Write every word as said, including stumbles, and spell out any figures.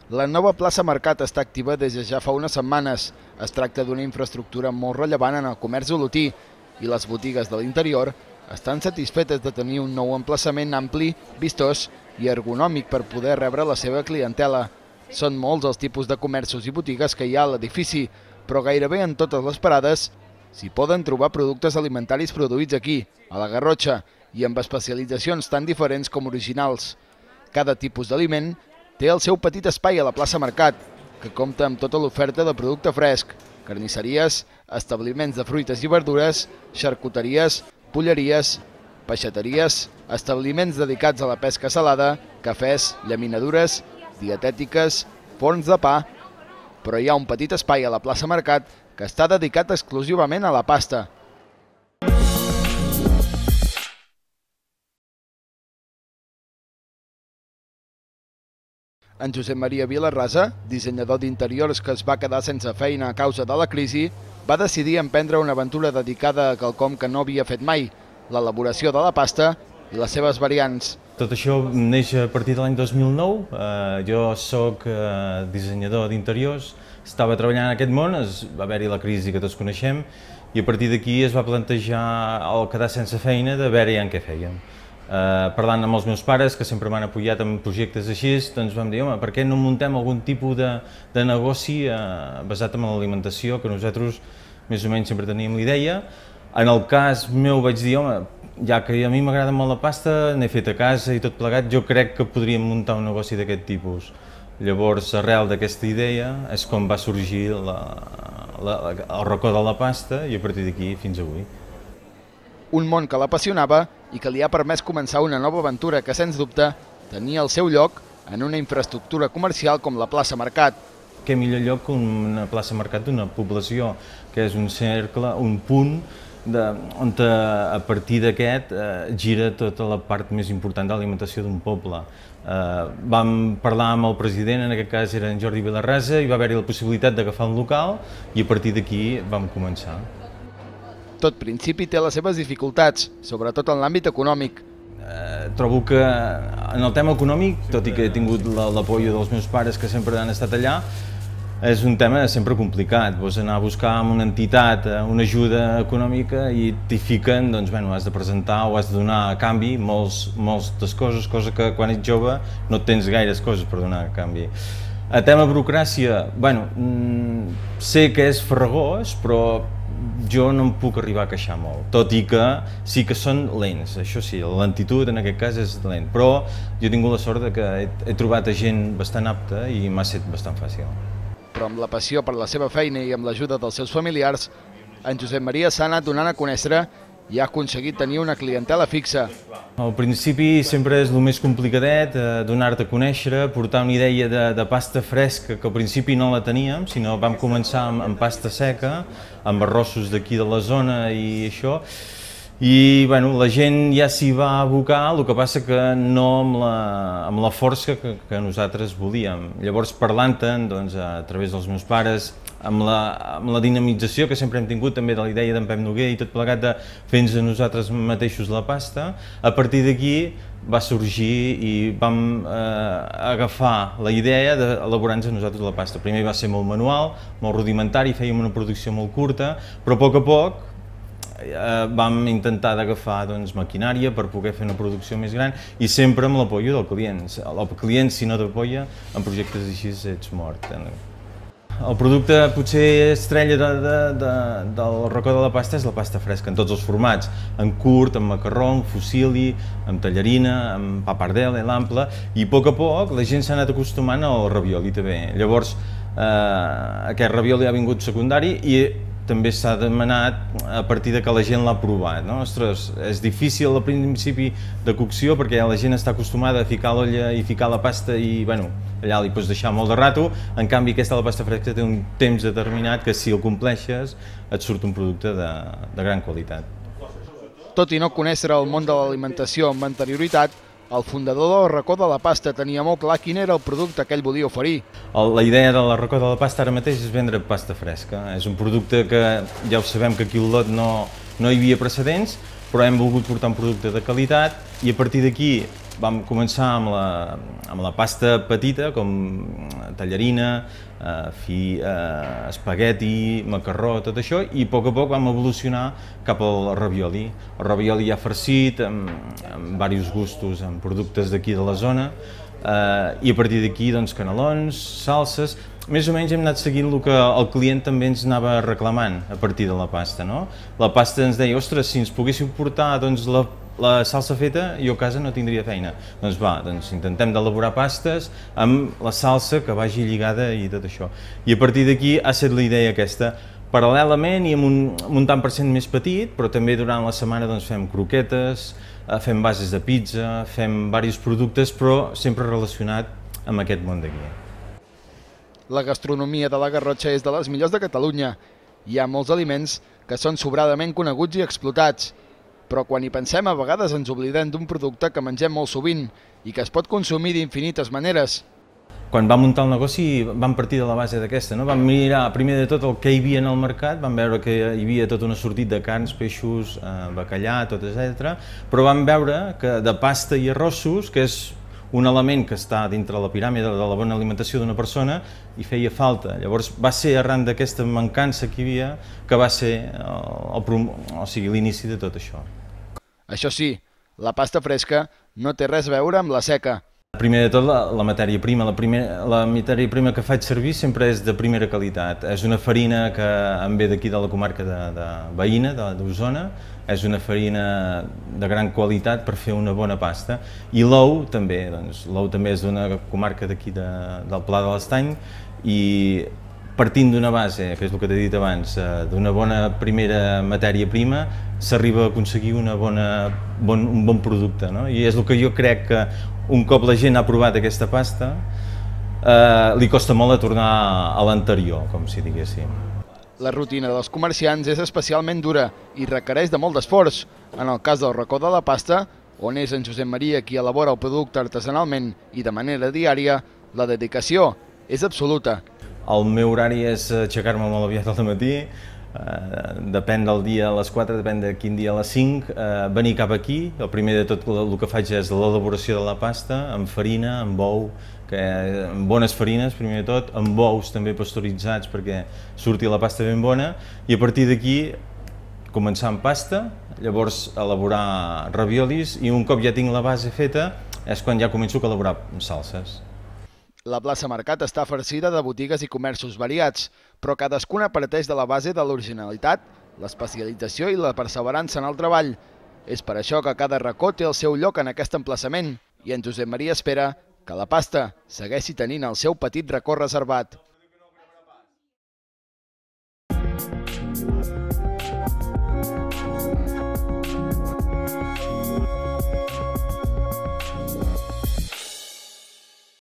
La nova plaça Mercat està activa des de ja fa unes setmanes. Es tracta d'una infraestructura molt rellevant en el comerç olotí i les botigues de l'interior estan satisfetes de tenir un nou emplaçament ampli, vistós i ergonòmic per poder rebre la seva clientela. Són molts els tipus de comerços i botigues que hi ha a l'edifici, però gairebé en totes les parades s'hi poden trobar productes alimentaris produïts aquí, a la Garrotxa, i amb especialitzacions tan diferents com originals. Cada tipus d'aliment té el seu petit espai a la plaça Mercat, que compta amb tota l'oferta de producte fresc, carnisseries, establiments de fruites i verdures, xarcuteries, polleries, peixateries, establiments dedicats a la pesca salada, cafès, llaminadures, dietètiques, forns de pa. Però hi ha un petit espai a la plaça Mercat que està dedicat exclusivament a la pasta. En Josep Maria Vilarrasa, dissenyador d'interiors que es va quedar sense feina a causa de la crisi, va decidir emprendre una aventura dedicada a quelcom que no havia fet mai, l'elaboració de la pasta i les seves variants. Tot això neix a partir de l'any dos mil nou. Jo soc dissenyador d'interiors, estava treballant en aquest món, va haver-hi la crisi que tots coneixem, i a partir d'aquí es va plantejar el quedar sense feina de veure ja en què fèiem. Parlant amb els meus pares, que sempre m'han apoyat en projectes així, doncs vam dir, home, per què no muntem algun tipus de negoci basat en l'alimentació, que nosaltres més o menys sempre teníem la idea. En el cas meu vaig dir, home, ja que a mi m'agrada molt la pasta, n'he fet a casa i tot plegat, jo crec que podríem muntar un negoci d'aquest tipus. Llavors, arrel d'aquesta idea, és com va sorgir el racó de la pasta i a partir d'aquí fins avui. Un món que l'apassionava i que li ha permès començar una nova aventura que, sens dubte, tenia el seu lloc en una infraestructura comercial com la plaça Mercat. Què millor lloc que una plaça Mercat d'una població, que és un cercle, un punt on a partir d'aquest gira tota la part més important de l'alimentació d'un poble. Vam parlar amb el president, en aquest cas era en Jordi Vilarrasa, i va haver-hi la possibilitat d'agafar un local i a partir d'aquí vam començar. Tot principi té les seves dificultats, sobretot en l'àmbit econòmic. Trobo que en el tema econòmic, tot i que he tingut l'apoyo dels meus pares que sempre han estat allà, és un tema sempre complicat. Vols anar a buscar amb una entitat una ajuda econòmica i t'hi fiquen, doncs, bueno, has de presentar o has de donar a canvi moltes coses, cosa que quan ets jove no tens gaires coses per donar a canvi. A tema burocràcia, bueno, sé que és farragós, però jo no em puc arribar a queixar molt, tot i que sí que són lents, això sí, la lentitud en aquest cas és lent, però jo he tingut la sort que he trobat gent bastant apta i m'ha estat bastant fàcil. Però amb la passió per la seva feina i amb l'ajuda dels seus familiars, en Josep Maria s'ha anat donant a conèixer i ha aconseguit tenir una clientela fixa. Al principi sempre és el més complicadet, donar-te a conèixer, portar una idea de pasta fresca, que al principi no la teníem, sinó vam començar amb pasta seca, amb arrossos d'aquí de la zona i això, i la gent ja s'hi va abocar, el que passa que no amb la força que nosaltres volíem. Llavors, parlant-te'n a través dels meus pares, amb la dinamització que sempre hem tingut també de la idea d'en Pep Noguer i tot plegat de fer-nos a nosaltres mateixos la pasta, a partir d'aquí va sorgir i vam agafar la idea d'elaborar-nos a nosaltres la pasta. Primer va ser molt manual, molt rudimentari, fèiem una producció molt curta, però a poc a poc vam intentar d'agafar maquinària per poder fer una producció més gran i sempre amb l'apoyo del client. El client, si no t'apoya, en projectes així ets mort. El producte potser estrella del racó de la pasta és la pasta fresca, en tots els formats, en curt, en macarró, en fusilli, en tallarina, en papardelle, l'ample, i a poc a poc la gent s'ha anat acostumant al ravioli també. Llavors aquest ravioli ha vingut secundari i també s'ha demanat a partir que la gent l'ha provat. Ostres, és difícil al principi de cocció perquè la gent està acostumada a ficar l'olla i ficar la pasta i allà li pots deixar molt de rato, en canvi aquesta la pasta fresca té un temps determinat que si el compleixes et surt un producte de gran qualitat. Tot i no conèixer el món de l'alimentació amb anterioritat, el fundador del racó de la pasta tenia molt clar quin era el producte que ell volia oferir. La idea del racó de la pasta ara mateix és vendre pasta fresca. És un producte que ja ho sabem que aquí a Olot no hi havia precedents, però hem volgut portar un producte de qualitat i a partir d'aquí vam començar amb la, amb la pasta petita, com tallarina, eh, fi, eh, espagueti, macarró, tot això, i a poc a poc vam evolucionar cap al ravioli. El ravioli ja farcit, amb, amb diversos gustos, amb productes d'aquí de la zona, eh, i a partir d'aquí doncs, canelons, salses. Més o menys hem anat seguint el que el client també ens anava reclamant a partir de la pasta, no? La pasta ens deia, ostres, si ens poguéssiu portar doncs, la, la salsa feta, jo a casa no tindria feina. Doncs va, doncs intentem d'elaborar pastes amb la salsa que vagi lligada i tot això. I a partir d'aquí ha estat la idea aquesta. Paral·lelament i amb un, amb un tant per cent més petit, però també durant la setmana doncs, fem croquetes, fem bases de pizza, fem diversos productes, però sempre relacionat amb aquest món d'aquí. La gastronomia de la Garrotxa és de les millors de Catalunya. Hi ha molts aliments que són sobradament coneguts i explotats, però quan hi pensem a vegades ens oblidem d'un producte que mengem molt sovint i que es pot consumir d'infinites maneres. Quan vam muntar el negoci vam partir de la base d'aquesta, no? Vam mirar primer de tot el que hi havia en el mercat, vam veure que hi havia tot un assortit de carns, peixos, eh, bacallà, tot etcètera, però vam veure que de pasta i arrossos, que és un element que està dintre la piràmide de la bona alimentació d'una persona, i feia falta. Llavors va ser arran d'aquesta mancança que hi havia que va ser el, el, o sigui, l'inici de tot això. Això sí, la pasta fresca no té res a veure amb la seca. Primer de tot, la, la matèria prima. La, primer, la matèria prima que faig servir sempre és de primera qualitat. És una farina que em ve d'aquí de la comarca de, de veïna, d'Osona. És una farina de gran qualitat per fer una bona pasta. I l'ou també, doncs, l'ou també és d'una comarca d'aquí de, del Pla de l'Estany, i partint d'una base, que és el que t'he dit abans, d'una bona primera matèria prima, s'arriba a aconseguir una bona, bon, un bon producte, no? I és el que jo crec que un cop la gent ha provat aquesta pasta, eh, li costa molt de tornar a l'anterior, com si diguéssim. La rutina dels comerciants és especialment dura i requereix de molt d'esforç. En el cas del racó de la pasta, on és en Josep Maria qui elabora el producte artesanalment i de manera diària, la dedicació és absoluta. El meu horari és aixecar-me molt aviat al matí, eh, depèn del dia a les quatre, depèn de quin dia a les cinc, eh, venir cap aquí. El primer de tot el que faig és l'elaboració de la pasta, amb farina, amb ou, que, amb bones farines primer de tot, amb ous també pasteuritzats perquè surti la pasta ben bona, i a partir d'aquí començar amb pasta, llavors elaborar raviolis, i un cop ja tinc la base feta és quan ja començo a elaborar salses. La plaça Mercat està farcida de botigues i comerços variats, però cadascuna parteix de la base de l'originalitat, l'especialització i la perseverança en el treball. És per això que cada racó té el seu lloc en aquest emplaçament, i en Josep Maria espera que la pasta segueixi tenint el seu petit racó reservat.